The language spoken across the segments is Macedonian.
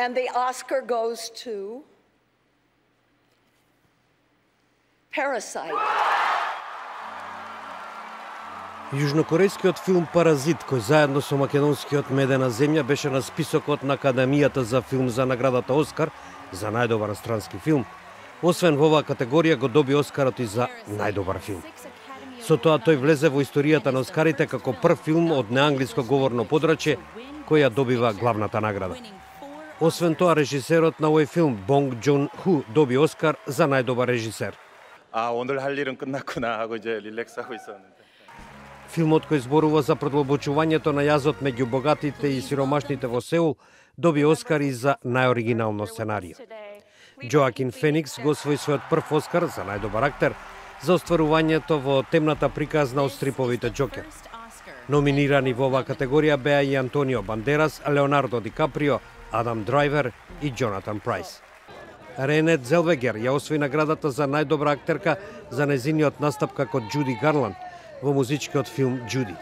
And the Oscar goes to Parasite. Јужнокорејскиот филм Паразит, кој заедно со македонскиот Медена земја беше на списокот на Академијата за филм за наградата Оскар за најдобар странски филм, освен во оваа категорија го доби Оскарот и за најдобар филм. Со тоа тој влезе во историјата на Оскарите како прв филм од неанглиско говорно подрачје кој ја добива главната награда. Освен тоа, режисерот на овој филм, Бонг Джун Ху, доби Оскар за најдобар режисер. 오늘 할 일은 끝났구나 하고 이제 릴렉스하고 있었는데. Филмот кој зборува за продлабочувањето на јазот меѓу богатите и сиромашните во Сеул, доби Оскар и за најоригинално сценарио. Джоакин Феникс го освои својот прв Оскар за најдобар актер за остварувањето во темната приказна од стриповите Џокер. Номинирани во оваа категорија беа и Антонио Бандерас, Леонардо Ди Каприо, Адам Драйвер и Джонатан Прайс. Рене Зелвегер ја освои наградата за најдобра актерка за незиниот настап како Џуди Гарланд во музичкиот филм Џуди.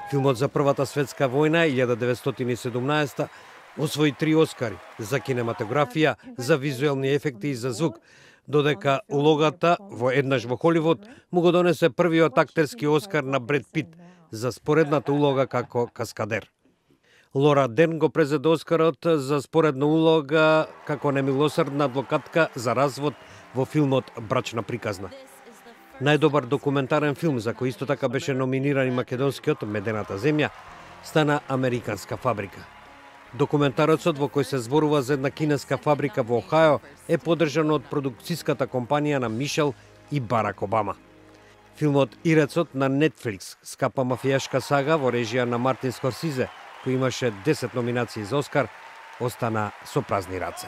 Филмот за Првата светска војна 1917 освои 3 Оскари за кинематографија, за визуелни ефекти и за звук, додека улогата во Еднаш во Холивуд му го донесе првиот актерски Оскар на Бред Пит за споредната улога како каскадер. Лора Дерн го презеде Оскарот за споредна улога како немилосрдна адвокатка за развод во филмот Брачна приказна. Најдобар документарен филм за кој исто така беше номиниран и македонскиот Медената земја стана Американска фабрика. Документарецот во кој се зборува за една кинеска фабрика во Охајо е поддржан од продукцијската компанија на Мишел и Барак Обама. Филмот Ирецот на Netflix, скапа мафијашка сага во режија на Мартин Скорсизе, кој имаше 10 номинации за Оскар, остана со празни раце.